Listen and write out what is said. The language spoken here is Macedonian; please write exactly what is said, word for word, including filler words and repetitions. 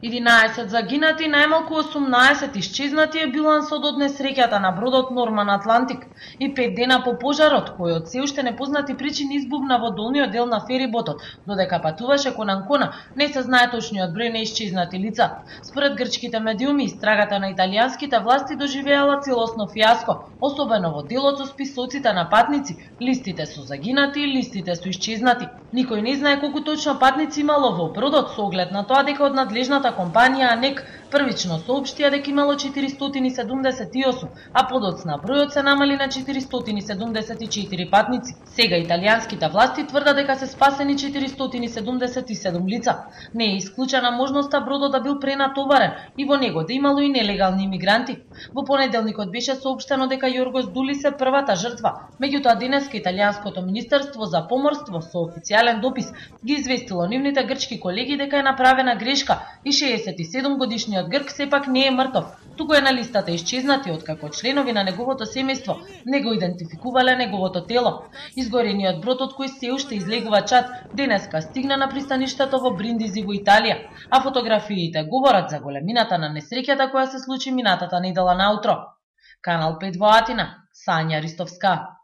единаесет загинати, најмалку осумнаесет исчезнати е билансот од несреќата на бродот Норман Атлантик и пет дена по пожарот, кој од се уште непознати причини избувна во долниот дел на фериботот, додека патуваше кон Анкона, не се знае точниот број на исчезнати лица. Според грчките медиуми, истрагата на италијанските власти доживеала целосно фиаско, особено во делот со списоците на патници, листите со загинати и листите со исчезнати. Никој не знае колку точно патници имало во бродот, со оглед на тоа дека од надлежната компанија АНЕК првично соопштија дека имало четиристотини седумдесет и осум, а подоцна бројот се намали на четиристотини седумдесет и четири патници. Сега италијанските власти тврдат дека се спасени четиристотини седумдесет и седум лица. Не е исклучена можноста бродот да бил пренатоварен и во него да имало и нелегални имигранти. Во понеделникот беше соопштено дека Јоргос Дулис е првата жртва, меѓутоа денеска италијанското министерство за поморство со официјален допис ги известило нивните грчки колеги дека е направена грешка и шеесет и седум годишниот грк сепак не е мртов, туку е на листата исчезнати откако членови на неговото семејство не го идентификувале неговото тело. Изгорениот брод од кој се уште излегува чад денеска стигна на пристаништето во Бриндизи во Италија, а фотографиите говорат за големината на несреќата која се случи минатата недела наутро. Канал пет во Атина, Сања Ристовска.